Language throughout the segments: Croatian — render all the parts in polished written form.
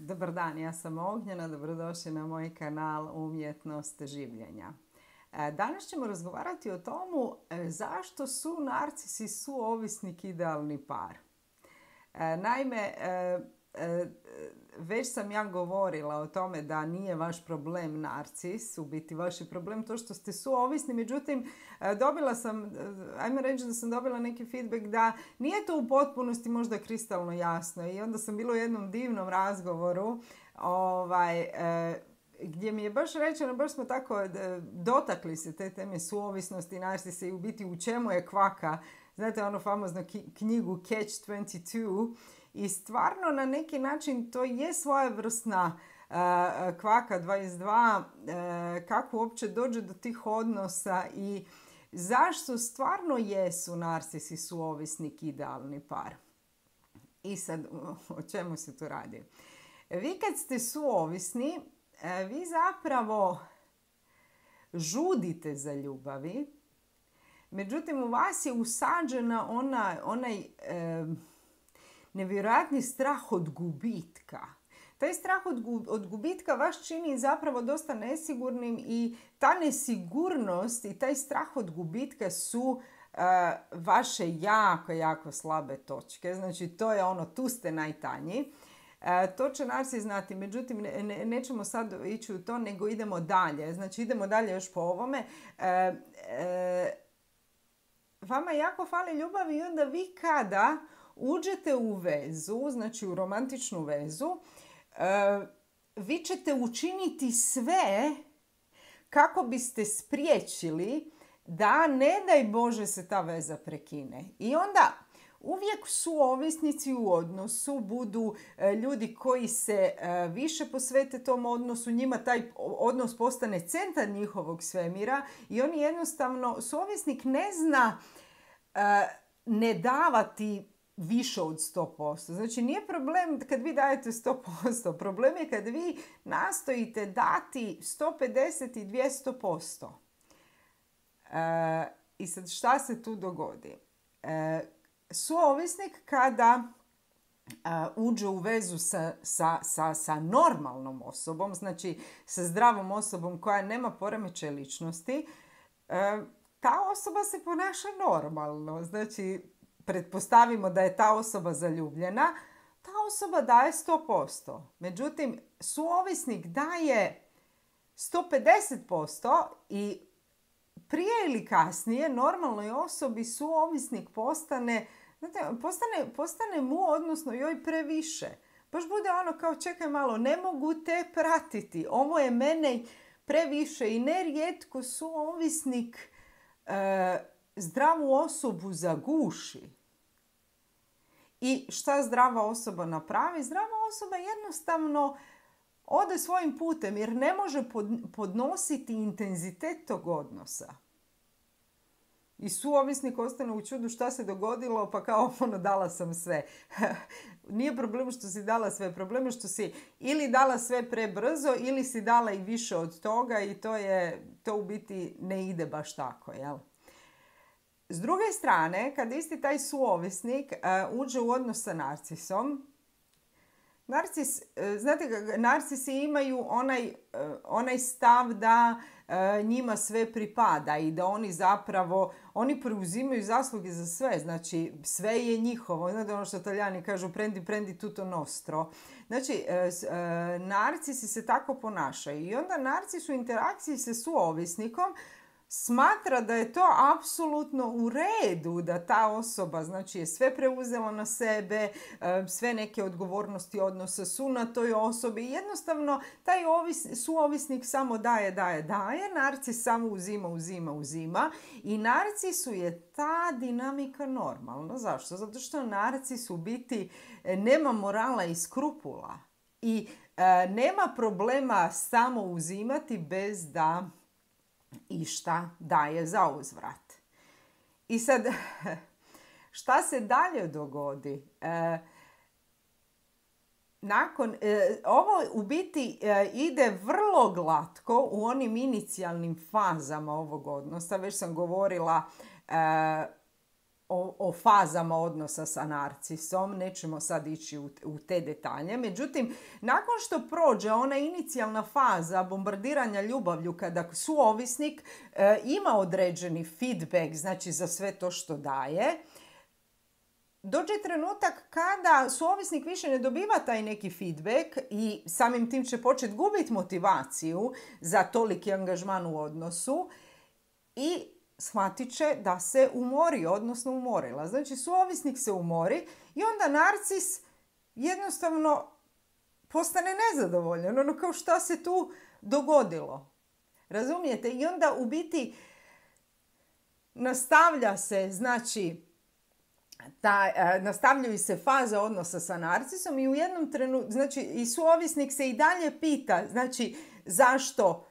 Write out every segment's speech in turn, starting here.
Dobar dan, ja sam Ognjena, dobrodošli na moj kanal Umjetnost življenja. Danas ćemo razgovarati o tomu zašto su narcisi i suovisnik idealni par. Naime, već sam ja govorila o tome da nije vaš problem narcis, u biti vaš je problem to što ste suovisni, međutim dobila sam, ajmo reći da sam dobila neki feedback da nije to u potpunosti možda kristalno jasno i onda sam bila u jednom divnom razgovoru gdje mi je baš rečeno, baš smo tako dotakli se te teme suovisnosti, narcisa i u biti u čemu je kvaka. Znate onu famoznu knjigu Catch 22 i stvarno na neki način to je svojevrsna kvaka 22, kako uopće dođe do tih odnosa i zašto stvarno jesu narcisi i suovisnik idealni par. I sad, o čemu se tu radi? Vi kad ste suovisni, vi zapravo žudite za ljubavi, međutim u vas je usađena onaj nevjerojatni strah od gubitka. Taj strah od gubitka vas čini zapravo dosta nesigurnim i ta nesigurnost i taj strah od gubitka su vaše jako, jako slabe točke. Znači to je tu ste najtanji. To će narcis znati, međutim nećemo sad ići u to, nego idemo dalje. Znači idemo dalje još po ovome. Vama jako fali ljubavi i onda vi kada uđete u vezu, znači u romantičnu vezu, vi ćete učiniti sve kako biste spriječili da ne daj Bože se ta veza prekine. I onda uvijek suovisnici u odnosu budu ljudi koji se više posvete tom odnosu, njima taj odnos postane centar njihovog svemira i oni jednostavno, suovisnik ne zna ne davati više od 100%. Znači nije problem kad vi dajete 100%, problem je kad vi nastojite dati 150 i 200%. I sad šta se tu dogodi? Suovisnik kada uđe u vezu sa normalnom osobom, znači sa zdravom osobom koja nema poremećaj ličnosti, ta osoba se ponaša normalno. Znači, pretpostavimo da je ta osoba zaljubljena, ta osoba daje 100%. Međutim, suovisnik daje 150% i prije ili kasnije normalnoj osobi suovisnik postane mu, odnosno joj previše. Baš bude kao čekaj malo, ne mogu te pratiti, ovo je mene previše i nerijetko suovisnik zdravu osobu zaguši. I šta zdrava osoba napravi? Zdrava osoba jednostavno ode svojim putem jer ne može podnositi intenzitet tog odnosa. I suovisnik ostane u čudu šta se dogodilo, pa kao dala sam sve. Nije problem što si dala sve, problem je što si ili dala sve prebrzo ili si dala i više od toga i to u biti ne ide baš tako, jel? S druge strane, kad isti taj suovisnik uđe u odnos sa narcisom, narcisi imaju onaj stav da njima sve pripada i da oni zapravo, oni preuzimaju zasluge za sve, znači sve je njihovo. Znate ono što Talijani kažu prendi tutto nostro. Znači, narcisi se tako ponašaju i onda narcis u interakciji sa suovisnikom smatra da je to apsolutno u redu, da ta osoba znači, je sve preuzela na sebe, sve neke odgovornosti odnosa su na toj osobi. Jednostavno, taj suovisnik samo daje, narcis samo uzima. I narcisu je ta dinamika normalna. Zašto? Zato što narcis u biti nema morala i skrupula. I nema problema samo uzimati bez da išta daje za uzvrat. I sad, šta se dalje dogodi? Ovo u biti ide vrlo glatko u onim inicijalnim fazama ovog odnosa. Već sam govorila o fazama odnosa sa narcisom, nećemo sad ići u te detalje. Međutim, nakon što prođe ona inicijalna faza bombardiranja ljubavlju kada suovisnik ima određeni feedback, znači za sve to što daje, dođe trenutak kada suovisnik više ne dobiva taj neki feedback i samim tim će početi gubiti motivaciju za toliki angažman u odnosu i shvatit će da se umori, odnosno umorila. Znači, suovisnik se umori i onda narcis jednostavno postane nezadovoljan. Ono kao šta se tu dogodilo. Razumijete? I onda u biti nastavlja se, znači, nastavljaju se faze odnosa sa narcisom i u jednom trenutku, znači i suovisnik se i dalje pita, znači zašto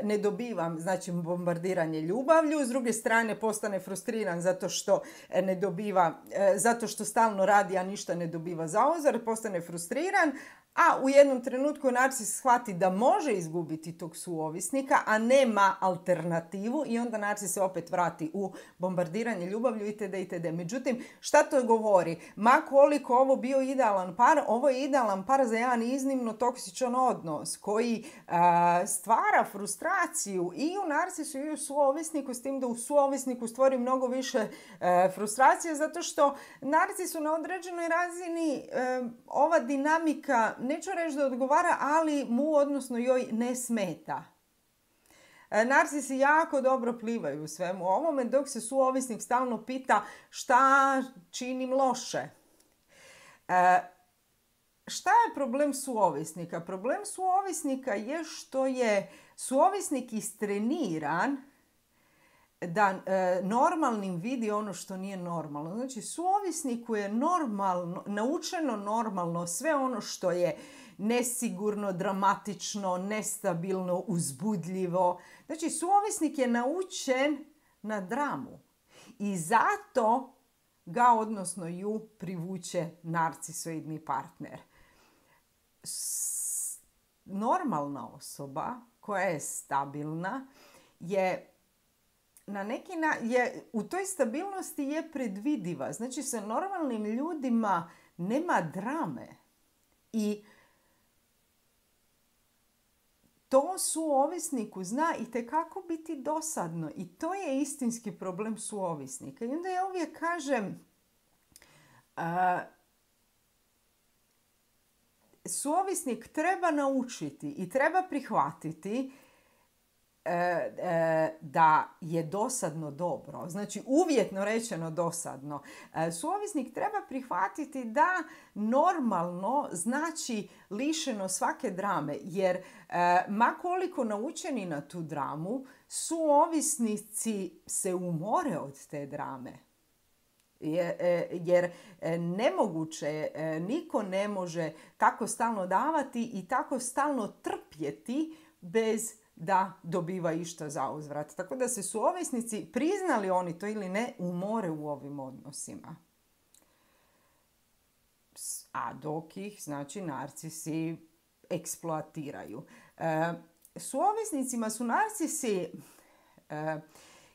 ne dobivam, znači, bombardiranje ljubavlju, s druge strane postane frustriran zato što ne dobiva, zato što stalno radi, a ništa ne dobiva zauzvrat, postane frustriran, a u jednom trenutku narcis shvati da može izgubiti tog suovisnika, a nema alternativu i onda narcis se opet vrati u bombardiranje ljubavlju itd. itd. Međutim, šta to govori? Ma koliko ovo bio idealan par, ovo je idealan par za jedan iznimno toksičan odnos koji stvara frustraciju i u narcisu i u suovisniku, s tim da u suovisniku stvori mnogo više frustracije zato što narcisu na određenoj razini ova dinamika, neću reći da odgovara, ali mu, odnosno joj, ne smeta. Narcisi jako dobro plivaju u svemu ovome, dok se suovisnik stalno pita šta činim loše. Šta je problem suovisnika? Problem suovisnika je što je suovisnik istreniran da normalnim vidi ono što nije normalno. Znači, suovisniku je naučeno normalno sve ono što je nesigurno, dramatično, nestabilno, uzbudljivo. Znači, suovisnik je naučen na dramu. I zato ga, odnosno ju, privuče narcisoidni partner. Normalna osoba koja je stabilna je na neki u toj stabilnosti je predvidiva. Znači, sa normalnim ljudima nema drame. I to suovisniku zna itekako biti dosadno. I to je istinski problem suovisnika. I onda ja uvijek kažem, suovisnik treba naučiti i treba prihvatiti da je dosadno dobro. Znači, uvjetno rečeno dosadno. Suovisnik treba prihvatiti da normalno znači lišeno svake drame. Jer ma koliko naučeni na tu dramu, suovisnici se umore od te drame. Jer nemoguće, niko ne može tako stalno davati i tako stalno trpjeti bez da dobiva išta za uzvrat. Tako da se suovisnici, priznali oni to ili ne, umore u ovim odnosima. A dok ih, znači, narcisi eksploatiraju. Suovisnicima su narcisi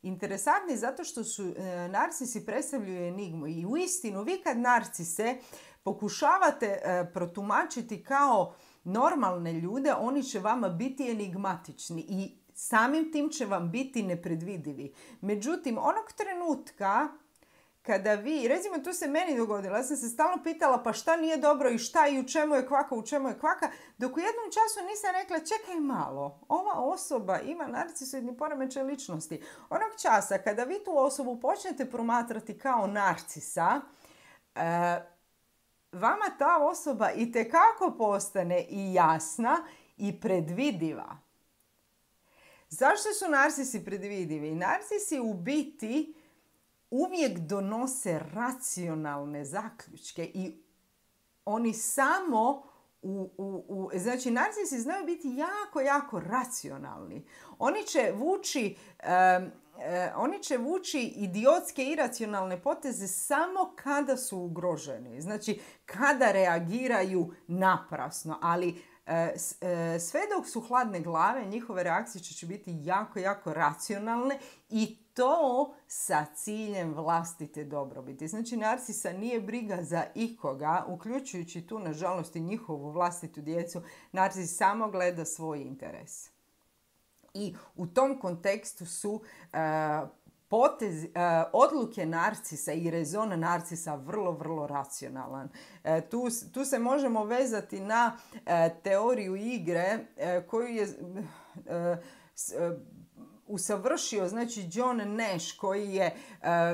interesantni zato što su narcisi predstavljaju enigmu. I uistinu, vi kad narcise pokušavate protumačiti kao normalne ljude, oni će vama biti enigmatični i samim tim će vam biti nepredvidivi. Međutim, onog trenutka kada vi, recimo tu se meni dogodilo, ja sam se stalno pitala pa šta nije dobro i šta i u čemu je kvaka, dok u jednom času nisam rekla čekaj malo, ova osoba ima narcisoidni poremećaj ličnosti. Onog časa kada vi tu osobu počnete promatrati kao narcisa, vama ta osoba itekako postane i jasna i predvidiva. Zašto su narcisi predvidivi? Narcisi u biti uvijek donose racionalne zaključke i oni samo znači, narcisi znaju biti jako, jako racionalni. Oni će vući oni će vući idiotske, iracionalne poteze samo kada su ugroženi. Znači, kada reagiraju naprasno. Ali sve dok su hladne glave, njihove reakcije će biti jako, jako racionalne i to sa ciljem vlastite dobrobiti. Znači, narcisa nije briga za ikoga, uključujući tu, nažalost, i njihovu vlastitu djecu. Narcis samo gleda svoj interes. I u tom kontekstu su odluke narcisa i rezon narcisa vrlo, vrlo racionalan. Tu se možemo vezati na teoriju igre koju je usavršio, znači, John Nash, koji je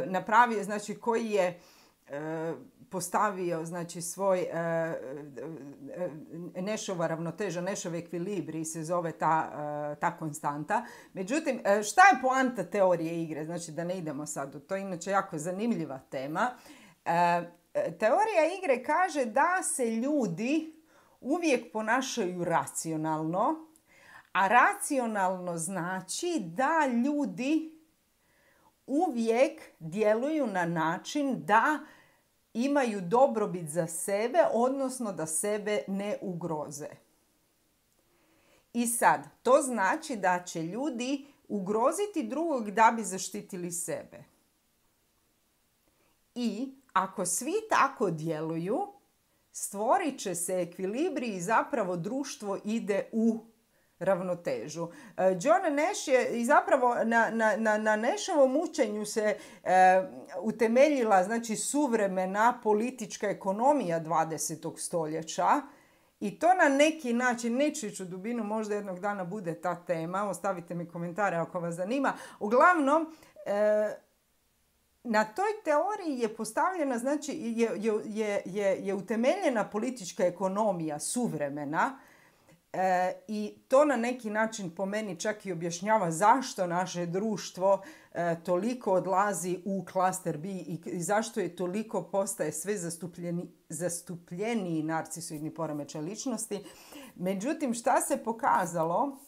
napravio, znači, koji je postavio, znači, svoj Nashova ravnoteža, Nashov ekvilibrij se zove ta konstanta. Međutim, šta je poanta teorije igre? Znači, da ne idemo sad u to, inače jako zanimljiva tema. Teorija igre kaže da se ljudi uvijek ponašaju racionalno, a racionalno znači da ljudi uvijek djeluju na način da imaju dobrobit za sebe, odnosno da sebe ne ugroze. I sad, to znači da će ljudi ugroziti drugog da bi zaštitili sebe. I ako svi tako djeluju, stvorit će se ekvilibrij i zapravo društvo ide u ravnotežu. John Nash je i zapravo na Nashovom učenju se utemeljila, znači, suvremena politička ekonomija 20. stoljeća i to na neki način, neću ići u dubinu, možda jednog dana bude ta tema, ostavite mi komentare ako vas zanima. Uglavnom, na toj teoriji je postavljena, znači, je utemeljena politička ekonomija suvremena. I to na neki način po meni čak i objašnjava zašto naše društvo toliko odlazi u klaster B i zašto je toliko postaje sve zastupljeniji narcisoidni poremećaj ličnosti. Međutim, šta se pokazalo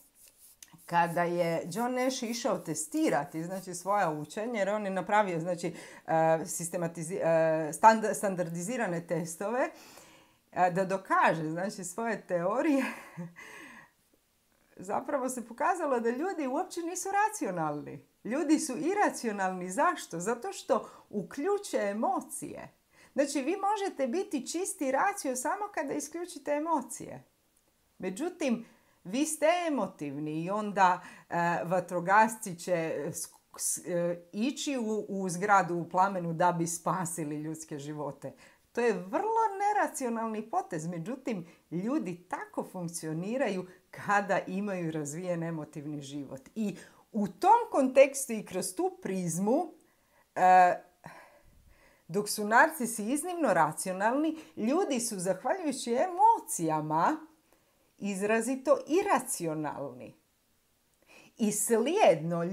kada je John Nash išao testirati, znači, svoja učenja, jer on je napravio, znači, standardizirane testove da dokaže, znači, svoje teorije, zapravo se pokazalo da ljudi uopće nisu racionalni. Ljudi su iracionalni. Zašto? Zato što uključe emocije. Znači, vi možete biti čisti racio samo kada isključite emocije. Međutim, vi ste emotivni i onda vatrogasci će ići u zgradu u plamenu da bi spasili ljudske živote. To je vrlo neracionalni potez, međutim, ljudi tako funkcioniraju kada imaju razvijen emotivni život. I u tom kontekstu i kroz tu prizmu, dok su narcisi iznimno racionalni, ljudi su, zahvaljujući emocijama, izrazito iracionalni. I slijedno,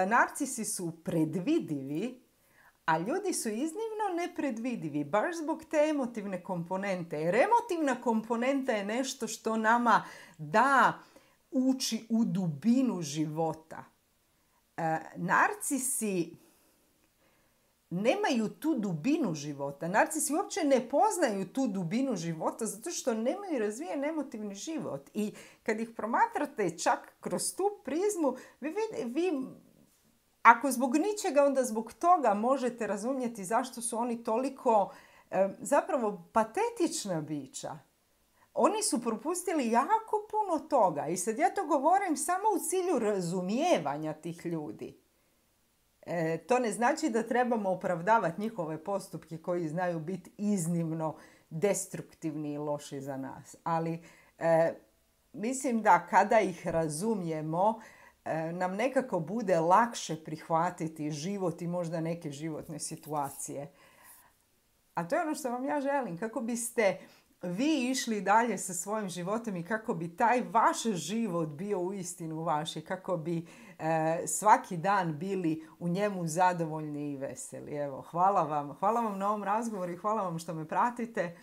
narcisi su predvidivi, a ljudi su iznimno nepredvidivi, baš zbog te emotivne komponente. Jer emotivna komponenta je nešto što nama da ući u dubinu života. Narcisi nemaju tu dubinu života. Narcisi uopće ne poznaju tu dubinu života zato što nemaju razvijen emotivni život. I kad ih promatrate čak kroz tu prizmu, vi ako zbog ničega, onda zbog toga možete razumjeti zašto su oni toliko zapravo patetična bića. Oni su propustili jako puno toga i sad ja to govorim samo u cilju razumijevanja tih ljudi. To ne znači da trebamo opravdavati njihove postupke koji znaju biti iznimno destruktivni i loši za nas. Ali mislim da kada ih razumijemo, nam nekako bude lakše prihvatiti život i možda neke životne situacije. A to je ono što vam ja želim, kako biste vi išli dalje sa svojim životom i kako bi taj vaš život bio uistinu vaš i kako bi svaki dan bili u njemu zadovoljni i veseli. Evo, hvala vam na ovom razgovoru i hvala vam što me pratite.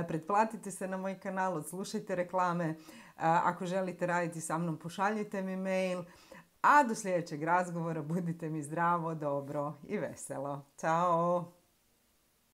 Pretplatite se na moj kanal, odslušajte reklame. Ako želite raditi sa mnom, pošaljite mi mail. A do sljedećeg razgovora budite mi zdravo, dobro i veselo. Ćao!